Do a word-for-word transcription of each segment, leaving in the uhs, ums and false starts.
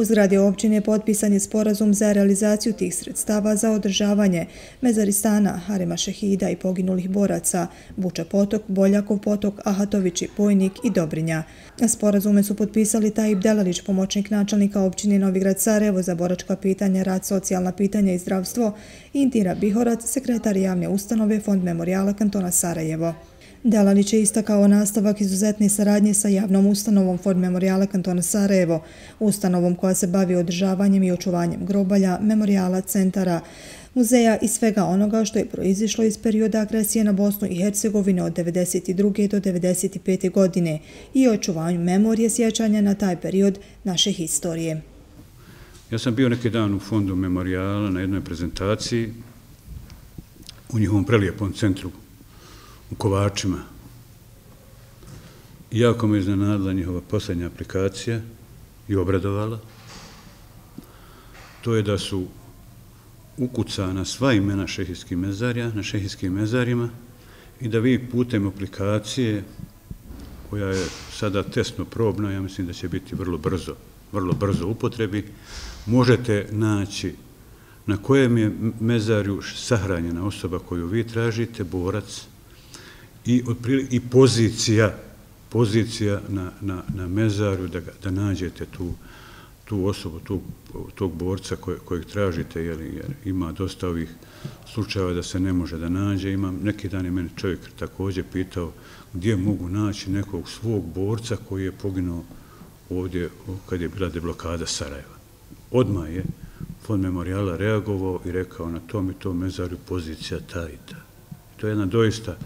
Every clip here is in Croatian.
U zgradi općine potpisan je sporazum za realizaciju tih sredstava za održavanje Mezaristana, Harema šehida i poginulih boraca, Buča potok, Boljakov potok, Ahatovići, Pojnik i Dobrinja. Sporazume su potpisali Tajib Delalić, pomoćnik načelnika općine Novi Grad Sarajevo za boračka pitanja, rad, socijalna pitanja i zdravstvo, i Intira Bihorac, sekretar javne ustanove Fond memorijala kantona Sarajevo. Delalić je istakao nastavak izuzetne saradnje sa javnom ustanovom Fond memorijala kantona Sarajevo, ustanovom koja se bavi održavanjem i očuvanjem grobalja, memorijala, centara, muzeja i svega onoga što je proizišlo iz perioda agresije na Bosnu i Hercegovinu od devedeset druge do devedeset pete godine i očuvanju memorije sjećanja na taj period naše historije. Ja sam bio neki dan u Fondu memorijala na jednoj prezentaciji u njihovom prelijepom centru u Kovačima. Jako me iznenadila njihova posljednja aplikacija i obradovala. To je da su ukucana sva imena šehijskih mezarja na šehijskim mezarima i da vi putem aplikacije, koja je sada testno probna, ja mislim da će biti vrlo brzo, vrlo brzo upotrebi, možete naći na kojem je mezarju sahranjena osoba koju vi tražite, borac, i, i pozicija, pozicija na, na, na mezarju da, da nađete tu, tu osobu, tu, tog borca koje, kojeg tražite, jer, jer ima dosta ovih slučajeva da se ne može da nađe. Imam, neki dan je meni čovjek također pitao gdje mogu naći nekog svog borca koji je poginuo ovdje kad je bila deblokada Sarajeva. Odmah je Fond memorijala reagovao i rekao na tom i tom mezarju pozicija ta i ta. To je jedna doista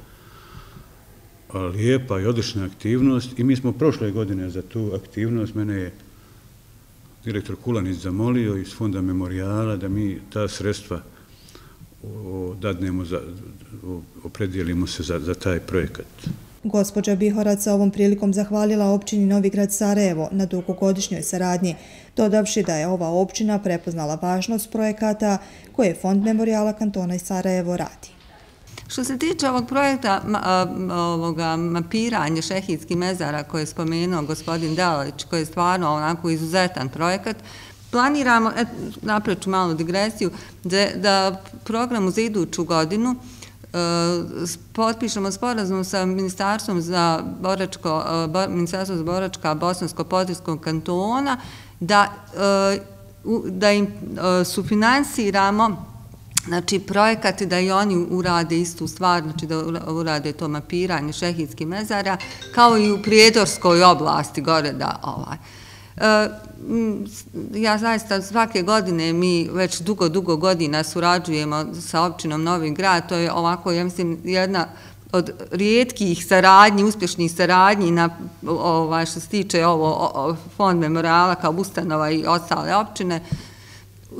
lijepa i odlična aktivnost i mi smo prošle godine za tu aktivnost, mene je direktor Kulanić zamolio iz Fonda memorijala da mi ta sredstva dadnemo, za, opredijelimo se za, za taj projekat. Gospođa Bihorac sa ovom prilikom zahvalila općini Novi Grad Sarajevo na dugogodišnjoj saradnji, dodavši da je ova općina prepoznala važnost projekata koje Fond memorijala kantona i Sarajevo radi. Što se tiče ovog projekta ovoga mapiranja šehijskih mezara koje je spomenuo gospodin Delalić, koji je stvarno onako izuzetan projekat, planiramo, napravit ću malu digresiju, da, da programu za iduću godinu potpišemo sporazum sa Ministarstvom za boračko, Ministarstvo za boračka Bosansko-Podrinjskog kantona, da, da im sufinansiramo znači projekat da i oni urade istu stvar, znači da urade to mapiranje šehijskih mezara, kao i u Prijedorskoj oblasti gore da ovaj. Ja zaista svake godine mi već dugo, dugo godina surađujemo sa općinom Novi Grad, to je ovako, ja mislim, jedna od rijetkih saradnji, uspješnih saradnji na, ovaj, što se tiče ovo Fond memorijala kao ustanova i ostale općine,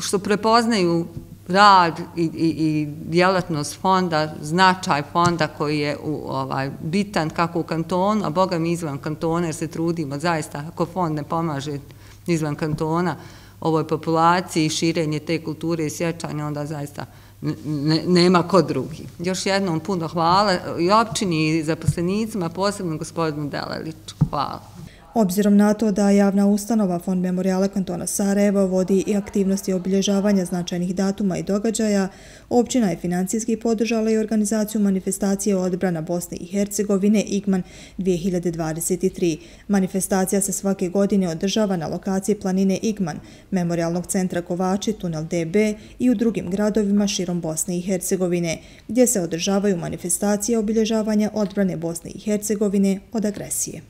što prepoznaju rad i, i, i djelatnost fonda, značaj fonda koji je u, ovaj, bitan kako u kantonu, a boga mi izvan kantona jer se trudimo zaista, ako fond ne pomaže izvan kantona ovoj populaciji i širenje te kulture i sjećanja, onda zaista ne, nema ko drugi. Još jednom puno hvala i općini i zaposlenicima, posebno gospodinu Delaliću. Hvala. Obzirom na to da javna ustanova Fond memorijala kantona Sarajevo vodi i aktivnosti obilježavanja značajnih datuma i događaja, općina je financijski podržala i organizaciju manifestacije odbrana Bosne i Hercegovine IGMAN dvije hiljade dvadeset tri. Manifestacija se svake godine održava na lokaciji planine IGMAN, Memorijalnog centra Kovači, tunel D B i u drugim gradovima širom Bosne i Hercegovine, gdje se održavaju manifestacije obilježavanja odbrane Bosne i Hercegovine od agresije.